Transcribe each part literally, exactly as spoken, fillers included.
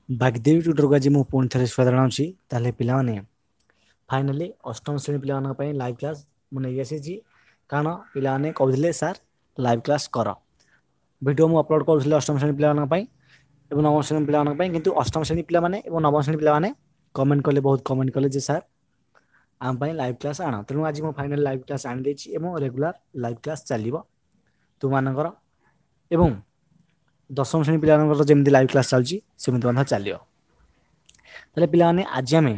ବାଗଦେବୀ ଟ୍ୟୁଟରକୁ ଆଜି ମୁଁ ପୁଣି ଥରେ ସ୍ୱାଗତ ଜଣାଉଛି। ତାହେଲେ ପିଲାମାନେ, ଫାଇନାଲି ଅଷ୍ଟମ ଶ୍ରେଣୀ ପିଲାମାନଙ୍କ ପାଇଁ ଲାଇଭ୍ କ୍ଲାସ୍ ମୁଁ ନେଇକି ଆସିଛି, କାରଣ ପିଲାମାନେ କହୁଥିଲେ ସାର୍ ଲାଇଭ୍ କ୍ଲାସ୍ କର। ଭିଡ଼ିଓ ମୁଁ ଅପଲୋଡ଼ କରୁଥିଲି ଅଷ୍ଟମ ଶ୍ରେଣୀ ପିଲାମାନଙ୍କ ପାଇଁ ଏବଂ ନବମ ଶ୍ରେଣୀ ପିଲାମାନଙ୍କ ପାଇଁ, କିନ୍ତୁ ଅଷ୍ଟମ ଶ୍ରେଣୀ ପିଲାମାନେ ଏବଂ ନବମ ଶ୍ରେଣୀ ପିଲାମାନେ କମେଣ୍ଟ କଲେ, ବହୁତ କମେଣ୍ଟ କଲେ ଯେ ସାର୍ ଆମ ପାଇଁ ଲାଇଭ୍ କ୍ଲାସ୍ ଆଣ। ତେଣୁ ଆଜି ମୁଁ ଫାଇନାଲ୍ ଲାଇଭ୍ କ୍ଲାସ୍ ଆଣିଦେଇଛି ଏବଂ ରେଗୁଲାର ଲାଇଭ୍ କ୍ଲାସ୍ ଚାଲିବ ତୁମମାନଙ୍କର, ଏବଂ ଦଶମ ଶ୍ରେଣୀ ପିଲାମାନଙ୍କର ଯେମିତି ଲାଇଭ୍ କ୍ଲାସ୍ ଚାଲୁଛି ସେମିତି ମଧ୍ୟ ଚାଲିବ। ତାହେଲେ ପିଲାମାନେ, ଆଜି ଆମେ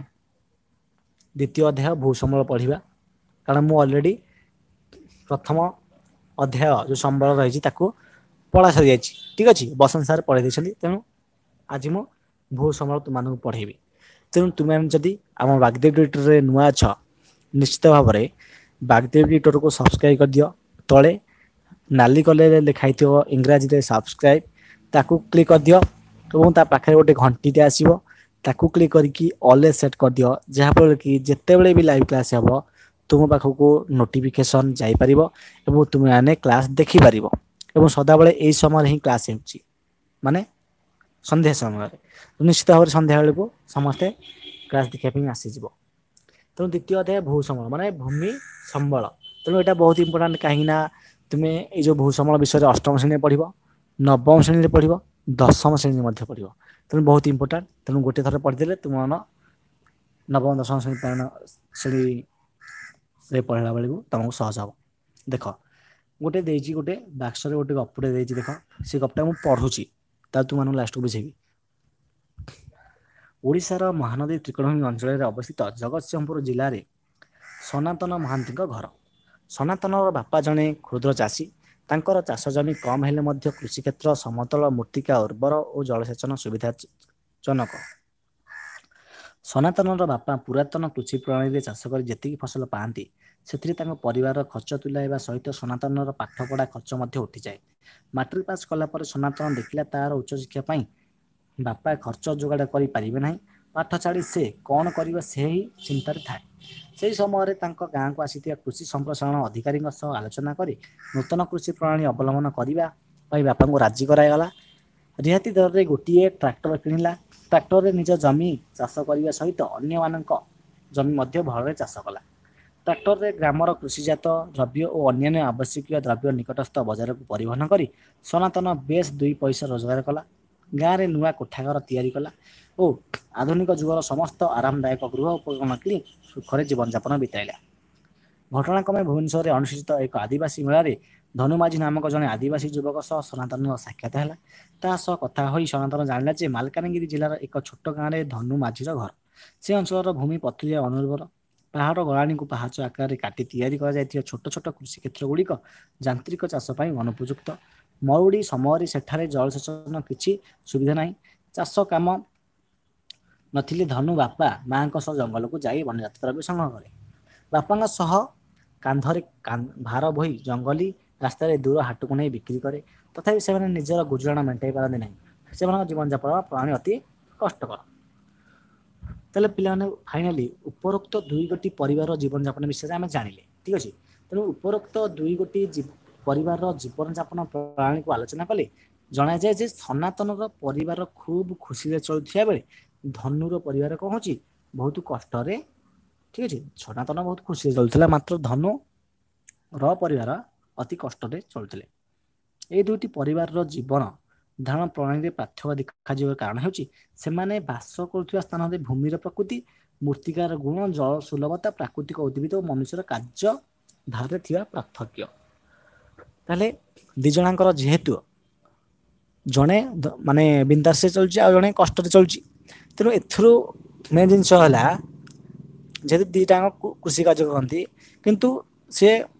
ଦ୍ୱିତୀୟ ଅଧ୍ୟାୟ ଭୂସମ୍ବଳ ପଢ଼ିବା, କାରଣ ମୁଁ ଅଲରେଡ଼ି ପ୍ରଥମ ଅଧ୍ୟାୟ ଯେଉଁ ସମ୍ବଳ ରହିଛି ତାକୁ ପଢ଼ା ସରିଯାଇଛି। ଠିକ୍ ଅଛି, ବସନ୍ତ ସାର୍ ପଢ଼େଇ ଦେଇଛନ୍ତି। ତେଣୁ ଆଜି ମୁଁ ଭୂସମ୍ବଳ ତୁମମାନଙ୍କୁ ପଢ଼େଇବି। ତେଣୁ ତୁମେ ଯଦି ଆମ ବାଗଦେବୀ ଟ୍ୟୁଟରରେ ନୂଆ ଅଛ, ନିଶ୍ଚିତ ଭାବରେ ବାଗଦେବୀ ଟ୍ୟୁଟରକୁ ସବସ୍କ୍ରାଇବ୍ କରିଦିଅ। ତଳେ ନାଲି କଲରରେ ଲେଖା ହେଇଥିବ ଇଂରାଜୀରେ ସବସ୍କ୍ରାଇବ୍, ତାକୁ କ୍ଲିକ୍ କରିଦିଅ ଏବଂ ତା ପାଖରେ ଗୋଟେ ଘଣ୍ଟିଟେ ଆସିବ, ତାକୁ କ୍ଲିକ୍ କରିକି ଅଲରେ ସେଟ୍ କରିଦିଅ, ଯାହାଫଳରେ କି ଯେତେବେଳେ ବି ଲାଇଭ୍ କ୍ଲାସ୍ ହେବ ତୁମ ପାଖକୁ ନୋଟିଫିକେସନ୍ ଯାଇପାରିବ ଏବଂ ତୁମେମାନେ କ୍ଲାସ୍ ଦେଖିପାରିବ। ଏବଂ ସଦାବେଳେ ଏଇ ସମୟରେ ହିଁ କ୍ଲାସ୍ ହେଉଛି, ମାନେ ସନ୍ଧ୍ୟା ସମୟରେ। ନିଶ୍ଚିତ ଭାବରେ ସନ୍ଧ୍ୟାବେଳକୁ ସମସ୍ତେ କ୍ଲାସ୍ ଦେଖିବା ପାଇଁ ଆସିଯିବ। ତେଣୁ ଦ୍ୱିତୀୟ ଅଧ୍ୟାୟ ଭୂସମ୍ବଳ, ମାନେ ଭୂମି ସମ୍ବଳ। ତେଣୁ ଏଇଟା ବହୁତ ଇମ୍ପୋର୍ଟାଣ୍ଟ, କାହିଁକି ନା ତୁମେ ଏଇ ଯେଉଁ ଭୂସମ୍ବଳ ବିଷୟରେ ଅଷ୍ଟମ ଶ୍ରେଣୀରେ ପଢ଼ିବ, ନବମ ଶ୍ରେଣୀରେ ପଢ଼ିବ, ଦଶମ ଶ୍ରେଣୀରେ ମଧ୍ୟ ପଢ଼ିବ। ତେଣୁ ବହୁତ ଇମ୍ପୋର୍ଟାଣ୍ଟ। ତେଣୁ ଗୋଟେ ଥର ପଢ଼ିଦେଲେ ତୁମ ନବମ ଦଶମ ଶ୍ରେଣୀ ଶ୍ରେଣୀରେ ପଢ଼ିଲା ବେଳକୁ ତୁମକୁ ସହଜ ହେବ। ଦେଖ, ଗୋଟେ ଦେଇଛି, ଗୋଟେ ବାକ୍ସରେ ଗୋଟେ ଗପଟେ ଦେଇଛି। ଦେଖ, ସେ ଗପଟା ମୁଁ ପଢ଼ୁଛି, ତା ତୁମମାନଙ୍କୁ ଲାଷ୍ଟକୁ ବୁଝେଇବି। ଓଡ଼ିଶାର ମହାନଦୀ ତ୍ରିକୋଣଭୂମି ଅଞ୍ଚଳରେ ଅବସ୍ଥିତ ଜଗତସିଂହପୁର ଜିଲ୍ଲାରେ ସନାତନ ମହାନ୍ତିଙ୍କ ଘର। ସନାତନର ବାପା ଜଣେ କ୍ଷୁଦ୍ର ଚାଷୀ। ତାଙ୍କର ଚାଷ ଜମି କମ୍ ହେଲେ ମଧ୍ୟ କୃଷିକ୍ଷେତ୍ର ସମତଳ, ମୃତ୍ତିକା ଉର୍ବର ଓ ଜଳସେଚନ ସୁବିଧା ଜନକ। ସନାତନର ବାପା ପୁରାତନ କୃଷି ପ୍ରଣାଳୀରେ ଚାଷ କରି ଯେତିକି ଫସଲ ପାଆନ୍ତି, ସେଥିରେ ତାଙ୍କ ପରିବାରର ଖର୍ଚ୍ଚ ତୁଲାଇବା ସହିତ ସନାତନର ପାଠପଢ଼ା ଖର୍ଚ୍ଚ ମଧ୍ୟ ଉଠିଯାଏ। ମାଟ୍ରିକ ପାସ୍ କଲା ପରେ ସନାତନ ଦେଖିଲା ତାର ଉଚ୍ଚଶିକ୍ଷା ପାଇଁ ବାପା ଖର୍ଚ୍ଚ ଯୋଗାଡ଼ କରିପାରିବେ ନାହିଁ। ପାଠ ଛାଡ଼ି ସେ କ'ଣ କରିବ ସେହି ଚିନ୍ତାରେ ଥାଏ। ସେହି ସମୟରେ ତାଙ୍କ ଗାଁକୁ ଆସିଥିବା କୃଷି ସମ୍ପ୍ରସାରଣ ଅଧିକାରୀଙ୍କ ସହ ଆଲୋଚନା କରି ନୂତନ କୃଷି ପ୍ରଣାଳୀ ଅବଲମ୍ବନ କରିବା ପାଇଁ ବାପାଙ୍କୁ ରାଜି କରାଗଲା। ରିହାତି ଦରରେ ଗୋଟିଏ ଟ୍ରାକ୍ଟର କିଣିଲା। ଟ୍ରାକ୍ଟରରେ ନିଜ ଜମି ଚାଷ କରିବା ସହିତ ଅନ୍ୟମାନଙ୍କ ଜମି ମଧ୍ୟ ଭଲରେ ଚାଷ କଲା। ଟ୍ରାକ୍ଟରରେ ଗ୍ରାମର କୃଷିଜାତ ଦ୍ରବ୍ୟ ଓ ଅନ୍ୟାନ୍ୟ ଆବଶ୍ୟକୀୟ ଦ୍ରବ୍ୟ ନିକଟସ୍ଥ ବଜାରକୁ ପରିବହନ କରି ସନାତନ ବେଶ ଦୁଇ ପଇସା ରୋଜଗାର କଲା। ଗାଁରେ ନୂଆ କୋଠାଘର ତିଆରି କଲା ଓ ଆଧୁନିକ ଯୁଗର ସମସ୍ତ ଆରାମଦାୟକ ଗୃହ ଉପକରଣ କିଣି ସୁଖରେ ଜୀବନଯାପନ ବିତାଇଲା। ଘଟଣାକ୍ରମେ ଭୁବନେଶ୍ୱରରେ ଅନୁଷ୍ଠିତ ଏକ ଆଦିବାସୀ ମେଳାରେ ଧନୁ ମାଝୀ ନାମକ ଜଣେ ଆଦିବାସୀ ଯୁବକ ସହ ସନାତନର ସାକ୍ଷାତ ହେଲା। ତା ସହ କଥା ହୋଇ ସନାତନ ଜାଣିଲା ଯେ ମାଲକାନଗିରି ଜିଲ୍ଲାର ଏକ ଛୋଟ ଗାଁରେ ଧନୁ ମାଝୀର ଘର। ସେ ଅଞ୍ଚଳର ଭୂମି ପଥୁରିଆ, ଅନୁର୍ବର। ପାହାଡ଼ ଗଳାଣିକୁ ପାହାଚ ଆକାରରେ କାଟି ତିଆରି କରାଯାଇଥିବା ଛୋଟ ଛୋଟ କୃଷି କ୍ଷେତ୍ର ଗୁଡ଼ିକ ଯାନ୍ତ୍ରିକ ଚାଷ ପାଇଁ ଅନୁପଯୁକ୍ତ। ମରୁଡ଼ି ସମୟରେ ସେଠାରେ ଜଳସେଚନ କିଛି ସୁବିଧା ନାହିଁ। ଚାଷ କାମ ନଥିଲେ ଧନୁ ବାପା ମାଙ୍କ ସହ ଜଙ୍ଗଲକୁ ଯାଇ ବନ୍ୟଜାତ ଦ୍ରବ୍ୟ ସଂଗ୍ରହ କରେ। ବାପାଙ୍କ ସହ କାନ୍ଧରେ ଭାର ବୋହି ଜଙ୍ଗଲୀ ରାସ୍ତାରେ ଦୂର ହାଟକୁ ନେଇ ବିକ୍ରି କରେ। ତଥାପି ସେମାନେ ନିଜର ଗୁଜୁରାଣ ମେଣ୍ଟାଇ ପାରନ୍ତି ନାହିଁ। ସେମାନଙ୍କ ଜୀବନଯାପନ ପ୍ରଣାଳୀ ଅତି କଷ୍ଟକର। ତାହେଲେ ପିଲାମାନେ, ଫାଇନାଲି ଉପରୋକ୍ତ ଦୁଇ ଗୋଟି ପରିବାରର ଜୀବନଯାପନ ବିଷୟରେ ଆମେ ଜାଣିଲେ। ଠିକ୍ ଅଛି, ତେଣୁ ଉପରୋକ୍ତ ଦୁଇ ଗୋଟି ପରିବାରର ଜୀବନଯାପନ ପ୍ରଣାଳୀକୁ ଆଲୋଚନା କଲେ ଜଣାଯାଏ ଯେ ସନାତନର ପରିବାର ଖୁବ୍ ଖୁସିରେ ଚଳୁଥିବା ବେଳେ ଧନୁର ପରିବାର କ'ଣ ହେଉଛି? ବହୁତ କଷ୍ଟରେ। ଠିକ୍ ଅଛି, ସନାତନ ବହୁତ ଖୁସିରେ ଚଳୁଥିଲା, ମାତ୍ର ଧନୁ ର ପରିବାର ଅତି କଷ୍ଟରେ ଚଳୁଥିଲେ। ଏଇ ଦୁଇଟି ପରିବାରର ଜୀବନ ଧାରଣ ପ୍ରଣାଳୀରେ ପାର୍ଥକ୍ୟ ଦେଖାଯିବାର କାରଣ ହେଉଛି ସେମାନେ ବାସ କରୁଥିବା ସ୍ଥାନରେ ଭୂମିର ପ୍ରକୃତି, ମୃତ୍ତିକାର ଗୁଣ, ଜଳ ସୁଲଭତା, ପ୍ରାକୃତିକ ଉଦ୍ଭିଦ ଓ ମନୁଷ୍ୟର କାର୍ଯ୍ୟ ଧାରରେ ଥିବା ପାର୍ଥକ୍ୟ। ତାହେଲେ ଦି ଜଣଙ୍କର ଯେହେତୁ ଜଣେ ମାନେ ବିନ୍ଦାସରେ ଚଳୁଛି ଆଉ ଜଣେ କଷ୍ଟରେ ଚଳୁଛି, ତେଣୁ ଏଥିରୁ ମେନ୍ ଜିନିଷ ହେଲା ଯେହେତୁ ଦୁଇଟାଙ୍କ କୃଷି କାର୍ଯ୍ୟ କରନ୍ତି, କିନ୍ତୁ ସେ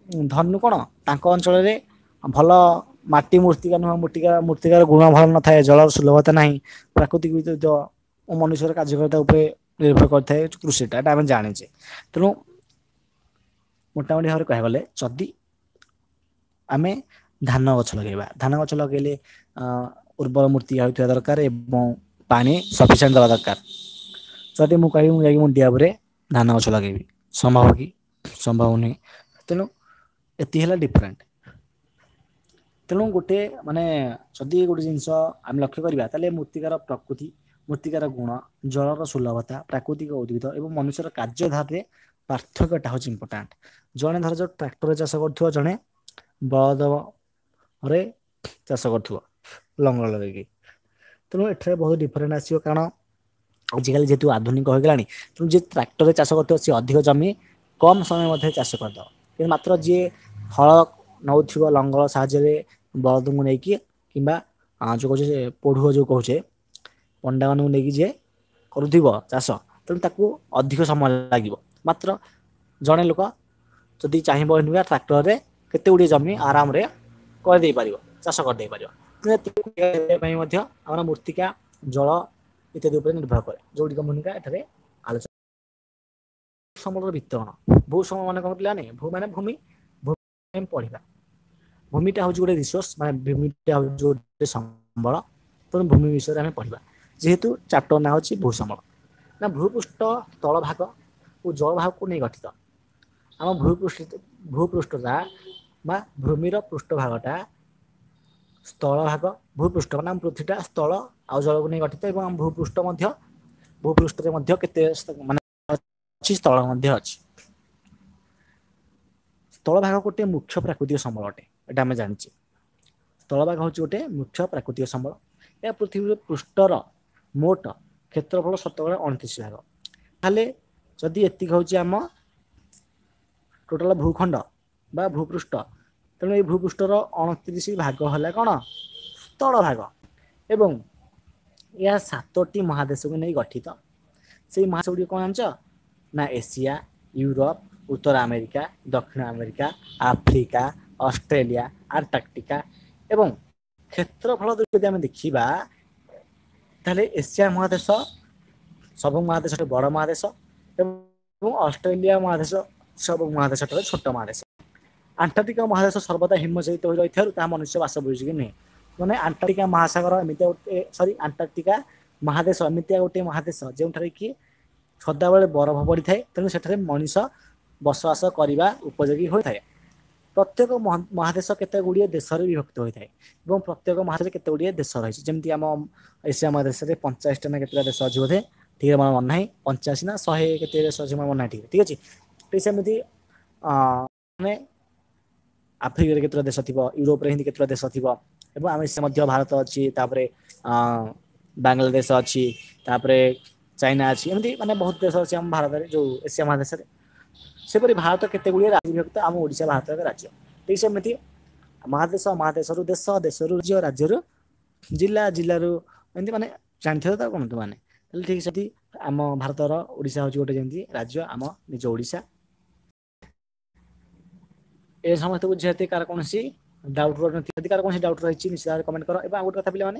ଧନୁ କ'ଣ ତାଙ୍କ ଅଞ୍ଚଳରେ ଭଲ ମାଟି ମୂର୍ତ୍ତିକା ନୁହଁ, ମୃତ୍ତିକା ମୃତ୍ତିକାର ଗୁଣ ଭଲ ନଥାଏ, ଜଳର ସୁଲଭତା ନାହିଁ, ପ୍ରାକୃତିକ ବିଦ୍ୟୁତ ଓ ମନୁଷ୍ୟର କାର୍ଯ୍ୟକରିତା ଉପରେ ନିର୍ଭର କରିଥାଏ କୃଷିଟା, ଏଟା ଆମେ ଜାଣିଛେ। ତେଣୁ ମୋଟାମୋଟି ଭାବରେ କହିବାକୁ ଗଲେ ଯଦି ଆମେ ଧାନ ଗଛ ଲଗେଇବା, ଧାନ ଗଛ ଲଗେଇଲେ ଉର୍ବର ମୂର୍ତ୍ତିକା ହୋଇଥିବା ଦରକାର ଏବଂ ପାଣି ସଫିସିଏଣ୍ଟ ଦେବା ଦରକାର। ଯଦି ମୁଁ କହିବି ମୁଁ ଯାଇକି ମୁଣ୍ଡିଆ ଉପରେ ଧାନ ଗଛ ଲଗେଇବି, ସମ୍ଭବ କି? ସମ୍ଭବ ନୁହେଁ। ତେଣୁ ଏତିକି ହେଲା ଡିଫରେଣ୍ଟ। ତେଣୁ ଗୋଟେ ମାନେ ଯଦି ଗୋଟେ ଜିନିଷ ଆମେ ଲକ୍ଷ୍ୟ କରିବା, ତାହେଲେ ମୃତ୍ତିକାର ପ୍ରକୃତି, ମୃତ୍ତିକାର ଗୁଣ, ଜଳର ସୁଲଭତା, ପ୍ରାକୃତିକ ଉଦ୍ଭିଦ ଏବଂ ମନୁଷ୍ୟର କାର୍ଯ୍ୟଧାରରେ ପାର୍ଥକ୍ୟଟା ହେଉଛି ଇମ୍ପୋର୍ଟାଣ୍ଟ। ଜଣେ ଧର ଯୋଉ ଟ୍ରାକ୍ଟରରେ ଚାଷ କରୁଥିବ, ଜଣେ ବଳଦରେ ଚାଷ କରୁଥିବ ଲଙ୍ଗଳ ଲଗେଇକି। ତେଣୁ ଏଠାରେ ବହୁତ ଡିଫରେଣ୍ଟ ଆସିବ, କାରଣ ଆଜିକାଲି ଯେହେତୁ ଆଧୁନିକ ହୋଇଗଲାଣି। ତେଣୁ ଯିଏ ଟ୍ରାକ୍ଟରରେ ଚାଷ କରୁଥିବ ସିଏ ଅଧିକ ଜମି କମ୍ ସମୟ ମଧ୍ୟରେ ଚାଷ କରିଦେବ, କିନ୍ତୁ ମାତ୍ର ଯିଏ ହଳ ନଉଥିବ ଲଙ୍ଗଳ ସାହାଯ୍ୟରେ ବଳଦଙ୍କୁ ନେଇକି କିମ୍ବା ଯୋଉ କହୁଛେ ପୋଢୁଅ ଯୋଉ କହୁଛେ, ପଣ୍ଡାମାନଙ୍କୁ ନେଇକି ଯିଏ କରୁଥିବ ଚାଷ, ତେଣୁ ତାକୁ ଅଧିକ ସମୟ ଲାଗିବ। ମାତ୍ର ଜଣେ ଲୋକ ଯଦି ଚାହିଁବ ଏନୁକା ଟ୍ରାକ୍ଟରରେ କେତେ ଗୁଡ଼ିଏ ଜମି ଆରାମରେ କରିଦେଇ ପାରିବ, ଚାଷ କରିଦେଇ ପାରିବ। ପାଇଁ ମଧ୍ୟ ଆମର ମୂର୍ତ୍ତିକା, ଜଳ ଇତ୍ୟାଦି ଉପରେ ନିର୍ଭର କରେ, ଯୋଉଗୁଡ଼ିକ ଭୂମିକା ଏଠାରେ ଆଲୋଚନା। ସମୂଳର ବିତରଣ। ଭୂ ସମ ମାନେ କଣ ପିଲାମାନେ? ଭୂ ମାନେ ଭୂମି, ଭୂମି ପଢିବା। ଭୂମିଟା ହେଉଛି ଗୋଟେ ରିସୋର୍ସ, ମାନେ ଭୂମିଟା ହେଉଛି ଗୋଟେ ସମ୍ବଳ। ତେଣୁ ଭୂମି ବିଷୟରେ ଆମେ ପଢିବା, ଯେହେତୁ ଚାପ୍ଟର ନାଁ ହେଉଛି ଭୂସମ୍ବଳ। ନା ଭୂପୃଷ୍ଠ ତଳ ଭାଗ ଓ ଜଳ ଭାଗକୁ ନେଇ ଗଠିତ। ଆମ ଭୂପୃଷ୍ଠ ଭୂପୃଷ୍ଠଟା ବା ଭୂମିର ପୃଷ୍ଠ ଭାଗଟା ସ୍ଥଳ ଭାଗ, ଭୂପୃଷ୍ଠ ମାନେ ଆମ ପୃଥିବୀଟା ସ୍ଥଳ ଆଉ ଜଳକୁ ନେଇ ଗଠିତ, ଏବଂ ଆମ ଭୂପୃଷ୍ଠ ମଧ୍ୟ, ଭୂପୃଷ୍ଠରେ ମଧ୍ୟ କେତେ ମାନେ ଅଛି, ସ୍ଥଳ ମଧ୍ୟ ଅଛି। ସ୍ଥଳ ଭାଗ ଗୋଟିଏ ମୁଖ୍ୟ ପ୍ରାକୃତିକ ସମ୍ବଳ ଅଟେ, ଏଇଟା ଆମେ ଜାଣିଛେ। ସ୍ଥଳଭାଗ ହେଉଛି ଗୋଟେ ମୁଖ୍ୟ ପ୍ରାକୃତିକ ସମ୍ବଳ। ଏହା ପୃଥିବୀର ପୃଷ୍ଠର ମୋଟ କ୍ଷେତ୍ରଫଳ ଶତକଡ଼ା ଅଣତିରିଶ ଭାଗ। ତାହେଲେ ଯଦି ଏତିକି ହେଉଛି ଆମ ଟୋଟାଲ ଭୂଖଣ୍ଡ ବା ଭୂପୃଷ୍ଠ, ତେଣୁ ଏଇ ଭୂପୃଷ୍ଠର ଅଣତିରିଶ ଭାଗ ହେଲା କ'ଣ? ସ୍ଥଳ ଭାଗ। ଏବଂ ଏହା ସାତୋଟି ମହାଦେଶକୁ ନେଇ ଗଠିତ। ସେଇ ମହାଦେଶ ଗୁଡ଼ିକ କ'ଣ ଜାଣିଛ ନା? ଏସିଆ, ୟୁରୋପ, ଉତ୍ତର ଆମେରିକା, ଦକ୍ଷିଣ ଆମେରିକା, ଆଫ୍ରିକା, ଅଷ୍ଟ୍ରେଲିଆ, ଆଣ୍ଟାର୍କଟିକା। ଏବଂ କ୍ଷେତ୍ରଫଳ ଯଦି ଆମେ ଦେଖିବା, ତାହେଲେ ଏସିଆ ମହାଦେଶ ସବୁ ମହାଦେଶ ବଡ଼ ମହାଦେଶ ଏବଂ ଅଷ୍ଟ୍ରେଲିଆ ମହାଦେଶ ସବୁ ମହାଦେଶ ଠାରୁ ଛୋଟ ମହାଦେଶ। ଆଣ୍ଟାର୍କଟିକା ମହାଦେଶ ସର୍ବଦା ହିମଶୀତ ହୋଇ ରହିଥିବାରୁ ତାହା ମନୁଷ୍ୟ ବାସ ଉପଯୋଗୀ ନୁହେଁ। ମାନେ ଆଣ୍ଟାର୍କଟିକା ମହାସାଗର ଏମିତିଆ ଗୋଟେ, ସରି, ଆଣ୍ଟାର୍କଟିକା ମହାଦେଶ ଏମିତିଆ ଗୋଟିଏ ମହାଦେଶ ଯେଉଁଠାରେ କି ସଦାବେଳେ ବରଫ ପଡ଼ିଥାଏ, ତେଣୁ ସେଠାରେ ମଣିଷ ବସବାସ କରିବା ଉପଯୋଗୀ ହୋଇଥାଏ। ପ୍ରତ୍ୟେକ ମହାଦେଶ କେତେ ଗୁଡ଼ିଏ ଦେଶରେ ବିଭକ୍ତ ହୋଇଥାଏ ଏବଂ ପ୍ରତ୍ୟେକ ମହାଦେଶରେ କେତେ ଗୁଡ଼ିଏ ଦେଶ ରହିଛି। ଯେମିତି ଆମ ଏସିଆ ମହାଦେଶରେ ପଞ୍ଚାଅଶୀଟା ନା କେତେଟା ଦେଶ ଅଛି ବୋଧେ, ଠିକ୍ ମୋର ମନେ ନାହିଁ, ପଞ୍ଚାଅଶୀ ନା ଶହେ କେତେ ଦେଶ ଅଛି ମୋର ମନେ ନାହିଁ ଠିକ୍। ଠିକ୍ ଅଛି, ଠିକ୍ ସେମିତି ମାନେ ଆଫ୍ରିକାରେ କେତେଟା ଦେଶ ଥିବ, ୟୁରୋପରେ ଏମିତି କେତେଟା ଦେଶ ଥିବ, ଏବଂ ଆମେ ସେ ମଧ୍ୟ ଭାରତ ଅଛି, ତାପରେ ବାଂଲାଦେଶ ଅଛି, ତାପରେ ଚାଇନା ଅଛି, ଏମିତି ମାନେ ବହୁତ ଦେଶ ଅଛି ଆମ ଭାରତରେ, ଯୋଉ ଏସିଆ ମହାଦେଶରେ। ସେପରି ଭାରତ କେତେ ଗୁଡ଼ିଏ ରାଜ୍ୟ ବିଭକ୍ତ, ଆମ ଓଡ଼ିଶା ଭାରତର ଏକ ରାଜ୍ୟ। ଠିକ୍ ସେମିତି ମହାଦେଶ, ମହାଦେଶରୁ ଦେଶ, ଦେଶରୁ ରାଜ୍ୟ, ରାଜ୍ୟରୁ ଜିଲ୍ଲା, ଜିଲ୍ଲାରୁ ଏମିତି ମାନେ ଜାଣିଥିବ ତ କଣ ମାନେ। ତାହେଲେ ଠିକ୍ ସେଠି ଆମ ଭାରତର ଓଡ଼ିଶା ହେଉଛି ଗୋଟେ ଯେମିତି ରାଜ୍ୟ, ଆମ ନିଜ ଓଡ଼ିଶା। ଏ ସମସ୍ତେ ବୁଝିଛନ୍ତି? କାହାର କୌଣସି ଡାଉଟ୍ ଯଦି କାହାର କୌଣସି ଡାଉଟ୍ ରହିଛି, ନିଶ୍ଚିତ ଭାବରେ କମେଣ୍ଟ କର। ଏବଂ ଆଉ ଗୋଟେ କଥା ପିଲାମାନେ,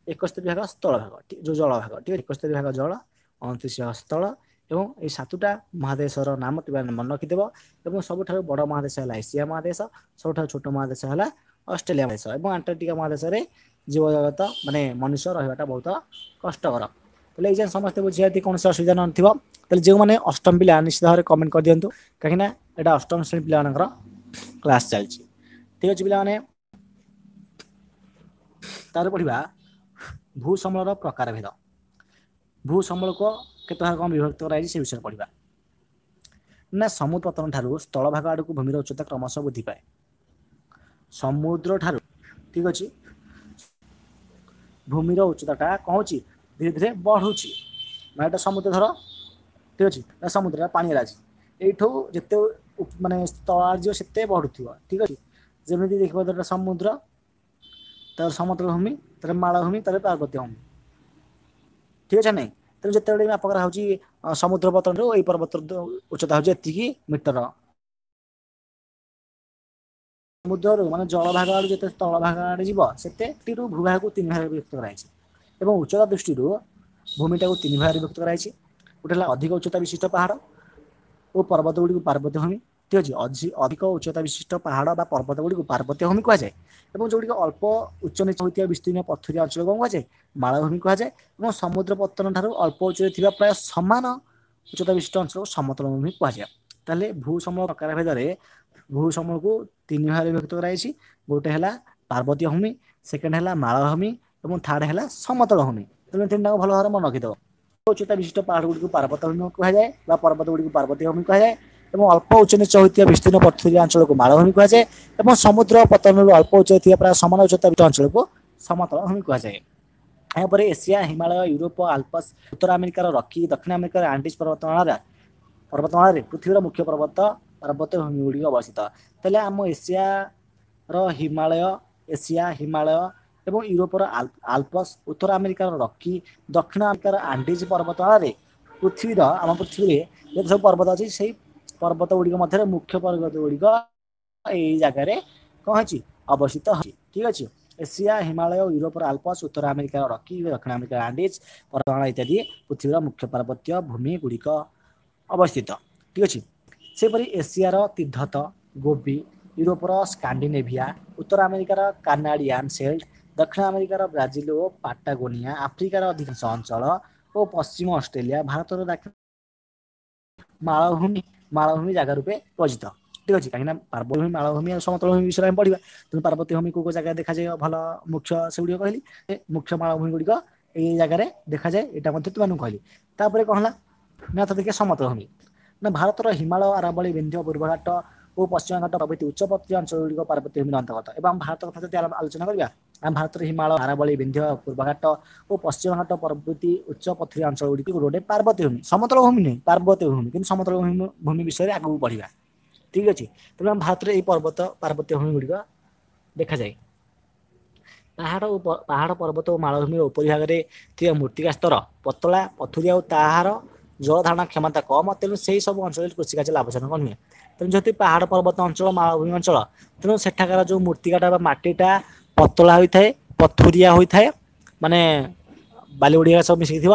ଏକସ୍ତରୀ ଭାଗ ସ୍ଥଳ ଭାଗ, ଯୋଉ ଜଳ ଭାଗ, ଠିକ୍, ଏକସ୍ତରୀ ଭାଗ ଜଳ, ଅଣତିରିଶ ଭାଗ ସ୍ଥଳ। ଏବଂ ଏଇ ସାତଟା ମହାଦେଶର ନାମ ତୁମେ ମନେ ରଖିଦେବ। ଏବଂ ସବୁଠାରୁ ବଡ଼ ମହାଦେଶ ହେଲା ଏସିଆ ମହାଦେଶ, ସବୁଠାରୁ ଛୋଟ ମହାଦେଶ ହେଲା ଅଷ୍ଟ୍ରେଲିଆ ମହାଦେଶ, ଏବଂ ଆଣ୍ଟାର୍କଟିକା ମହାଦେଶରେ ଜୀବଜଗତ ମାନେ ମନୁଷ୍ୟ ରହିବାଟା ବହୁତ କଷ୍ଟକର। ତାହେଲେ ଏଇ ଯାଏଁ ସମସ୍ତେ ବୁଝିବା, କୌଣସି ଅସୁବିଧା ନଥିବ। ତାହେଲେ ଯେଉଁମାନେ ଅଷ୍ଟମ ପିଲା ନିଶ୍ଚିତ ଭାବରେ କମେଣ୍ଟ କରିଦିଅନ୍ତୁ, କାହିଁକିନା ଏଇଟା ଅଷ୍ଟମ ଶ୍ରେଣୀ ପିଲାମାନଙ୍କର କ୍ଲାସ୍ ଚାଲିଛି। ଠିକ୍ ଅଛି ପିଲାମାନେ, ତାପରେ ପଢିବା ଭୂସମ୍ବଳର ପ୍ରକାର ଭେଦ। ଭୂସମ୍ବଳକୁ କେତେ ଭାଗ କଣ ବିଭକ୍ତ କରାଯାଇଛି ସେ ବିଷୟରେ ପଢିବା। ନା ସମୁଦ୍ର ପତନ ଠାରୁ ସ୍ଥଳଭାଗ ଆଡ଼କୁ ଭୂମିର ଉଚ୍ଚତା କ୍ରମଶଃ ବୃଦ୍ଧି ପାଏ। ସମୁଦ୍ର ଠାରୁ, ଠିକ ଅଛି, ଭୂମିର ଉଚ୍ଚତାଟା କଣ ହଉଛି? ଧୀରେ ଧୀରେ ବଢୁଛି। ମାନେ ଏଟା ସମୁଦ୍ର ଧର, ଠିକ ଅଛି ନା? ସମୁଦ୍ର ପାଣି ଅଛି, ଏଇଠୁ ଯେତେ ମାନେ ସ୍ଥଳ ଯିବ ସେତେ ବଢୁଥିବ। ଠିକ ଅଛି, ଯେମିତି ଦେଖିବ ଧର ସମୁଦ୍ର, ତାର ସମତଳ ଭୂମି, ତାର ମାଳଭୂମି, ତାର ପାର୍ବତ୍ୟ ଭୂମି। ଠିକ ଅଛି ନାଇଁ? ତେଣୁ ଯେତେବେଳେ ମାପ କରାହଉଛି ସମୁଦ୍ର ପତନରୁ ଏଇ ପର୍ବତ ଉଚ୍ଚତା ହଉଛି ଏତିକି ମିଟର। ସମୁଦ୍ରରୁ ମାନେ ଜଳ ଭାଗ ଆଡୁ ଯେତେ ସ୍ଥଳ ଭାଗ ଆଡେ ଯିବ ସେତେ ଭୂଭାଗକୁ ତିନି ଭାଗରେ ବିଭକ୍ତ କରାଯାଇଛି। ଏବଂ ଉଚ୍ଚତା ଦୃଷ୍ଟିରୁ ଭୂମିଟାକୁ ତିନି ଭାଗରେ ବିଭକ୍ତ କରାଯାଇଛି। ଗୋଟେ ହେଲା ଅଧିକ ଉଚ୍ଚତା ବିଶିଷ୍ଟ ପାହାଡ଼ ଓ ପର୍ବତ ଗୁଡ଼ିକୁ ପାର୍ବତ୍ୟ ଭୂମି। ଠିକ ଅଛି, ଅଧିକ ଉଚ୍ଚତା ବିଶିଷ୍ଟ ପାହାଡ଼ ବା ପର୍ବତ ଗୁଡ଼ିକୁ ପାର୍ବତ୍ୟ ଭୂମି କୁହାଯାଏ, ଏବଂ ଯୋଉଗୁଡ଼ିକ ଅଳ୍ପ ଉଚ୍ଚ ନୀଚ ହୋଇଥିବା ବିସ୍ତୀର୍ଣ୍ଣ ପଥୁରିଆ ଅଞ୍ଚଳ କଣ କୁହାଯାଏ? ମାଳଭୂମି କୁହାଯାଏ। ଏବଂ ସମୁଦ୍ର ପତ୍ତନ ଠାରୁ ଅଳ୍ପ ଉଚ୍ଚରେ ଥିବା ପ୍ରାୟ ସମାନ ଉଚ୍ଚତା ବିଶିଷ୍ଟ ଅଞ୍ଚଳକୁ ସମତଳ ଭୂମି କୁହାଯାଏ। ତାହେଲେ ଭୂ ସମଳ ପ୍ରକାର ଭେଦରେ ଭୂ ସମଳକୁ ତିନି ଭାଗରେ ବିଭକ୍ତ କରାଯାଇଛି। ଗୋଟେ ହେଲା ପାର୍ବତୀୟ ଭୂମି, ସେକେଣ୍ଡ ହେଲା ମାଳଭୂମି ଏବଂ ଥାର୍ଡ ହେଲା ସମତଳ ଭୂମି। ତେଣୁ ତିନିଟାକୁ ଭଲ ଭାବରେ ମନେ ରଖିଥିବ। ଉଚ୍ଚତା ବିଶିଷ୍ଟ ପାହାଡ଼ ଗୁଡ଼ିକୁ ପାର୍ବତ୍ୟ ଭୂମି କୁହାଯାଏ ବା ପର୍ବତ ଗୁଡ଼ିକୁ ପାର୍ବତୀୟ ଭୂମି କୁହାଯାଏ ଏବଂ ଅଳ୍ପ ଉଚ୍ଚ ନୀଚ ହୋଇଥିବା ବିସ୍ତୀର୍ଣ୍ଣ ପଥୁରିଆ ଅଞ୍ଚଳକୁ ମାଳଭୂମି କୁହାଯାଏ ଏବଂ ସମୁଦ୍ର ପତନରୁ ଅଳ୍ପ ଉଚ୍ଚ ଥିବା ପ୍ରାୟ ସମାନ ଉଚ୍ଚତା ଅଞ୍ଚଳକୁ ସମତଳ ଭୂମି କୁହାଯାଏ। ଏହାପରେ ଏସିଆ, ହିମାଳୟ, ୟୁରୋପ, ଆଲପସ୍, ଉତ୍ତର ଆମେରିକାର ରକି, ଦକ୍ଷିଣ ଆମେରିକାର ଆଣ୍ଡିଜ୍ ପର୍ବତମାଳାରେ ପର୍ବତମାଳାରେ ପୃଥିବୀର ମୁଖ୍ୟ ପର୍ବତ ପାର୍ବତ୍ୟ ଭୂମି ଗୁଡ଼ିକ ଅବସ୍ଥିତ। ତାହେଲେ ଆମ ଏସିଆର ହିମାଳୟ, ଏସିଆ, ହିମାଳୟ ଏବଂ ୟୁରୋପର ଆଲପସ୍, ଉତ୍ତର ଆମେରିକାର ରକି, ଦକ୍ଷିଣ ଆମେରିକାର ଆଣ୍ଡିଜ୍ ପର୍ବତମାଳାରେ ପୃଥିବୀର ଆମ ପୃଥିବୀରେ ଯେତେ ସବୁ ପର୍ବତ ଅଛି ସେଇ ପର୍ବତ ଗୁଡ଼ିକ ମଧ୍ୟରେ ମୁଖ୍ୟ ପର୍ବତ ଗୁଡ଼ିକ ଏଇ ଜାଗାରେ କଣ ହେଇଛି ଅବସ୍ଥିତ ହେଇଛି। ଠିକ ଅଛି। ଏସିଆ, ହିମାଳୟ, ୟୁରୋପର ଆଲପସ୍, ଉତ୍ତର ଆମେରିକାର ରକି, ଦକ୍ଷିଣ ଆମେରିକାର ଆଣ୍ଡିଜ୍ ପର୍ବତମାଳା ଇତ୍ୟାଦି ପୃଥିବୀର ମୁଖ୍ୟ ପାର୍ବତ୍ୟ ଭୂମି ଗୁଡ଼ିକ ଅବସ୍ଥିତ। ଠିକ ଅଛି। ସେହିପରି ଏସିଆର ତିବ୍ଦତ, ଗୋବି, ୟୁରୋପର ସ୍କାଣ୍ଡିନେଭିଆ, ଉତ୍ତର ଆମେରିକାର କାନାଡ଼ିଆନ୍ ସେଲ୍ଟ, ଦକ୍ଷିଣ ଆମେରିକାର ବ୍ରାଜିଲ ଓ ପାଟାଗୋନିଆ, ଆଫ୍ରିକାର ଅଧିକାଂଶ ଅଞ୍ଚଳ ଓ ପଶ୍ଚିମ ଅଷ୍ଟ୍ରେଲିଆ, ଭାରତର ଦାକ୍ଷିଣ ମାଳଭୂମି ମାଳଭୂମି ଜାଗା ରୂପେ ପରିଚିତ। ଠିକ ଅଛି। କାହିଁକିନା ପାର୍ବଭୂମି, ମାଳଭୂମି ଆଉ ସମତଳ ଭୂମି ବିଷୟରେ ଆମେ ପଢିବା। ତେଣୁ ପାର୍ବତ୍ୟ ଭୂମି କୋଉ କୋଉ ଜାଗାରେ ଦେଖାଯାଏ ଭଲ ମୁଖ୍ୟ ସେଗୁଡ଼ିକ କହିଲି। ମୁଖ୍ୟ ମାଳଭୂମି ଗୁଡ଼ିକ ଏଇ ଜାଗାରେ ଦେଖାଯାଏ, ଏଇଟା ମଧ୍ୟ ତୁମମାନଙ୍କୁ କହିଲି। ତାପରେ କଣ ହେଲା ନା ତ ଦେଖିବା ସମତଳ ଭୂମି। ନା ଭାରତର ହିମାଳୟ, ଆରାବଳୀ, ବିନ୍ଧ୍ୟ, ପୂର୍ବଘାଟ ଓ ପଶ୍ଚିମଘାଟ ପ୍ରଭୃତି ଉଚ୍ଚପର୍ତ୍ତୀ ଅଞ୍ଚଳ ଗୁଡ଼ିକ ପାର୍ବତ୍ୟ ଭୂମିର ଅନ୍ତର୍ଗତ। ଏବଂ ଭାରତ କଥା ଯଦି ଆଲୋଚନା କରିବା, ଆମ ଭାରତର ହିମାଳୟ, ଆରାବଳୀ, ବିନ୍ଧ୍ୟ, ପୂର୍ବଘାଟ ଓ ପଶ୍ଚିମଘାଟ ପ୍ରଭୃତି ଉଚ୍ଚ ପଥୁରିଆ ଅଞ୍ଚଳ ଗୁଡ଼ିକ ଗୋଟେ ଗୋଟେ ପାର୍ବତ୍ୟ ଭୂମି, ସମତଳ ଭୂମି ନୁହେଁ, ପାର୍ବତ୍ୟ ଭୂମି। କିନ୍ତୁ ସମତଳ ଭୂମି ଭୂମି ବିଷୟରେ ଆଗକୁ ବଢିବା। ଠିକ ଅଛି। ତେଣୁ ଆମ ଭାରତରେ ଏଇ ପର୍ବତ ପାର୍ବତ୍ୟ ଭୂମି ଗୁଡ଼ିକ ଦେଖାଯାଏ। ପାହାଡ଼ ଓ ପାହାଡ଼ ପର୍ବତ ଓ ମାଳଭୂମିର ଉପରି ଭାଗରେ ଥିବା ମୃତ୍ତିକା ସ୍ତର ପତଳା, ପଥୁରିଆ ଓ ତାହାର ଜଳ ଧାରଣା କ୍ଷମତା କମ। ତେଣୁ ସେଇ ସବୁ ଅଞ୍ଚଳରେ କୃଷି କାର୍ଯ୍ୟ ଲାଭଜନକ ନୁହେଁ। ତେଣୁ ଯେହେତୁ ପାହାଡ଼ ପର୍ବତ ଅଞ୍ଚଳ, ମାଳଭୂମି ଅଞ୍ଚଳ, ତେଣୁ ସେଠାକାର ଯୋଉ ମୃତ୍ତିକାଟା ବା ମାଟିଟା ପତଳା ହୋଇଥାଏ, ପଥୁରିଆ ହୋଇଥାଏ, ମାନେ ବାଲି ଗୁଡ଼ିକ ସବୁ ମିଶିକି ଥିବ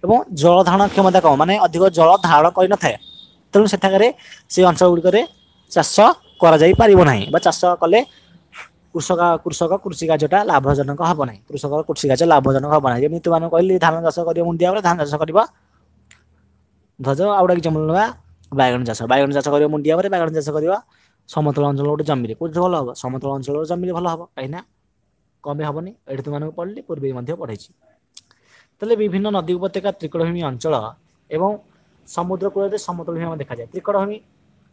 ଏବଂ ଜଳ ଧାରଣ କ୍ଷମତା କମ, ମାନେ ଅଧିକ ଜଳ ଧାରଣ କରିନଥାଏ। ତେଣୁ ସେଠାକାରେ ସେଇ ଅଞ୍ଚଳ ଗୁଡ଼ିକରେ ଚାଷ କରାଯାଇ ପାରିବ ନାହିଁ ବା ଚାଷ କଲେ କୃଷକ କୃଷକ କୃଷି କାର୍ଯ୍ୟଟା ଲାଭଜନକ ହବ ନାହିଁ। କୃଷକ କୃଷି କାର୍ଯ୍ୟ ଲାଭଜନକ ହବ ନାହିଁ। ଯେମିତି ତୁମମାନଙ୍କୁ କହିଲି ଧାନ ଚାଷ କରିବ ମୁଣ୍ଡିଆ ଉପରେ, ଧାନ ଚାଷ କରିବ ଧଜ। ଆଉ ଗୋଟେ ଏକ୍ଜାମ୍ପଲ ନେବା ବାଇଗଣ ଚାଷ। ବାଇଗଣ ଚାଷ କରିବ ମୁଣ୍ଡିଆ ଉପରେ, ବାଇଗଣ ଚାଷ କରିବ ସମତଳ ଅଞ୍ଚଳ ଗୋଟେ ଜମିରେ, କୋଉଠି ଭଲ ହବ? ସମତଳ ଅଞ୍ଚଳର ଜମିରେ ଭଲ ହବ। କାହିଁକି ନା କମ ହବନି। ଏଇଠି ତୁମମାନଙ୍କୁ ପଢିଲି, ପୂର୍ବେ ମଧ୍ୟ ପଢେଇଛି। ତାହେଲେ ବିଭିନ୍ନ ନଦୀ ଉପତ୍ୟକା, ତ୍ରିକୋଣଭୂମି ଅଞ୍ଚଳ ଏବଂ ସମୁଦ୍ର କୂଳରେ ସମତଳ ଭୂମି ଦେଖାଯାଏ। ତ୍ରିକୋଣଭୂମି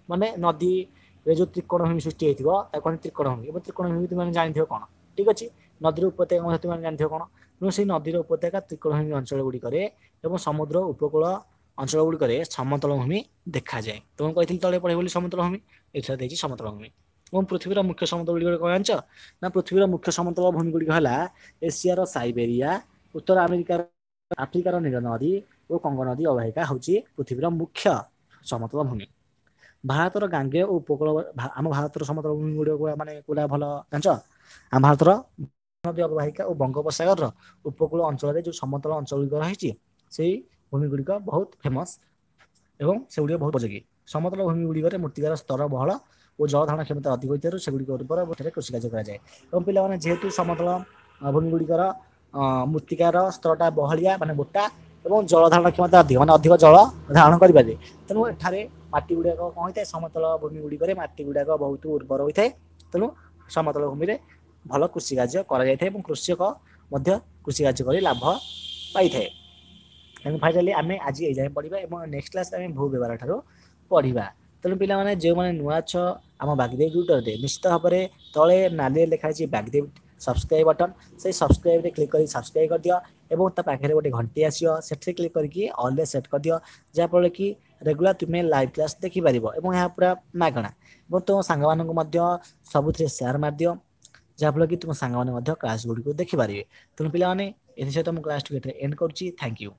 ମାନେ ନଦୀରେ ଯୋଉ ତ୍ରିକୋଣଭୂମି ସୃଷ୍ଟି ହେଇଥିବ ତାକୁ କହନ୍ତି ତ୍ରିକୋଣଭୂମି। ଏବଂ ତ୍ରିକୋଣଭୂମି ତୁମେ ଜାଣିଥିବ କଣ? ଠିକ ଅଛି। ନଦୀର ଉପତ୍ୟକା ମଧ୍ୟ ତୁମେ ଜାଣିଥିବ କଣ? ତେଣୁ ସେଇ ନଦୀର ଉପତ୍ୟକା, ତ୍ରିକୋଣଭୂମି ଅଞ୍ଚଳ ଗୁଡ଼ିକରେ ଏବଂ ସମୁଦ୍ର ଉପକୂଳ ଅଞ୍ଚଳ ଗୁଡ଼ିକରେ ସମତଳ ଭୂମି ଦେଖାଯାଏ। ତୁମକୁ କହିଥିଲି ତଳେ ପଢିବ ବୋଲି ସମତଳ ଭୂମି, ଏଠାରେ ଦେଇଛି ସମତଳ ଭୂମି। ଏବଂ ପୃଥିବୀର ମୁଖ୍ୟ ସମତଳ ଗୁଡ଼ିକ କଣ ଜାଣିଛ ନା? ପୃଥିବୀର ମୁଖ୍ୟ ସମତଳ ଭୂମି ଗୁଡ଼ିକ ହେଲା ଏସିଆର ସାଇବେରିଆ, ଉତ୍ତର ଆମେରିକାର, ଆଫ୍ରିକାର ନୀଳ ନଦୀ ଓ କଙ୍ଗୋ ନଦୀ ଅବବାହିକା ହେଉଛି ପୃଥିବୀର ମୁଖ୍ୟ ସମତଳ ଭୂମି। ଭାରତର ଗାଙ୍ଗେୟ ଓ ଉପକୂଳ, ଆମ ଭାରତର ସମତଳ ଭୂମି ଗୁଡ଼ିକ ମାନେ କୋଉଟା ଭଲ ଜାଣିଛ? ଆମ ଭାରତର ନଦୀ ଅବବାହିକା ଓ ବଙ୍ଗୋପସାଗରର ଉପକୂଳ ଅଞ୍ଚଳରେ ଯୋଉ ସମତଳ ଅଞ୍ଚଳ ଗୁଡ଼ିକ ରହିଛି ସେଇ ଭୂମି ଗୁଡ଼ିକ ବହୁତ ଫେମସ ଏବଂ ସେଗୁଡ଼ିକ ବହୁତ ଉପଯୋଗୀ। ସମତଳ ଭୂମି ଗୁଡ଼ିକରେ ମୃତ୍ତିକାର ସ୍ତର ବହଳ ଓ ଜଳ ଧାରଣ କ୍ଷମତା ଅଧିକ ହୋଇଥିବାରୁ ସେଗୁଡ଼ିକ ଉର୍ବର ଏଠାରେ କୃଷି କାର୍ଯ୍ୟ କରାଯାଏ। ଏବଂ ପିଲାମାନେ ଯେହେତୁ ସମତଳ ଭୂମି ଗୁଡ଼ିକର ମୃତ୍ତିକାର ସ୍ତରଟା ବହଳିଆ ମାନେ ମୋଟା ଏବଂ ଜଳ ଧାରଣ କ୍ଷମତା ଅଧିକ, ମାନେ ଅଧିକ ଜଳ ଧାରଣ କରିପାରେ, ତେଣୁ ଏଠାରେ ମାଟି ଗୁଡ଼ାକ କଣ ହୋଇଥାଏ? ସମତଳ ଭୂମି ଗୁଡ଼ିକରେ ମାଟି ଗୁଡ଼ାକ ବହୁତ ଉର୍ବର ହୋଇଥାଏ। ତେଣୁ ସମତଳ ଭୂମିରେ ଭଲ କୃଷି କାର୍ଯ୍ୟ କରାଯାଇଥାଏ ଏବଂ କୃଷକ ମଧ୍ୟ କୃଷି କାର୍ଯ୍ୟ କରି ଲାଭ ପାଇଥାଏ। ତେଣୁ ଫାଇନାଲି ଆମେ ଆଜି ଏଇ ଯାଏଁ ପଢ଼ିବା ଏବଂ ନେକ୍ସଟ କ୍ଲାସରେ ଆମେ ଭୂ ବ୍ୟବହାର ଠାରୁ ପଢ଼ିବା। ତେଣୁ ପିଲାମାନେ ଯେଉଁମାନେ ନୂଆ ଅଛ ଆମ ବାଗଦେବୀ ଟ୍ୟୁଟରରେ, ନିଶ୍ଚିତ ଭାବରେ ତଳେ ନାଲିରେ ଲେଖା ହେଇଛି ବାଗଦେବୀ ସବସ୍କ୍ରାଇବ୍ ବଟନ୍, ସେଇ ସବସ୍କ୍ରାଇବ୍ରେ କ୍ଲିକ୍ କରି ସବସ୍କ୍ରାଇବ୍ କରିଦିଅ ଏବଂ ତା ପାଖରେ ଗୋଟେ ଘଣ୍ଟି ଆସିବ, ସେଠି କ୍ଲିକ୍ କରିକି ଅଲ୍ରେ ସେଟ୍ କରିଦିଅ, ଯାହାଫଳରେ କି ରେଗୁଲାର ତୁମେ ଲାଇଭ୍ କ୍ଲାସ୍ ଦେଖିପାରିବ ଏବଂ ଏହା ପୁରା ମାଗଣା। ଏବଂ ତୁମ ସାଙ୍ଗମାନଙ୍କୁ ମଧ୍ୟ ସବୁଥିରେ ସେୟାର ମାରିଦିଅ, ଯାହାଫଳରେ କି ତୁମ ସାଙ୍ଗମାନେ ମଧ୍ୟ କ୍ଲାସ୍ ଗୁଡ଼ିକୁ ଦେଖିପାରିବେ। ତେଣୁ ପିଲାମାନେ ଏଥିସହିତ ମୁଁ କ୍ଲାସ୍ଟିକୁ ଏଠାରେ ଏଣ୍ଡ କରୁଛି। Thank you.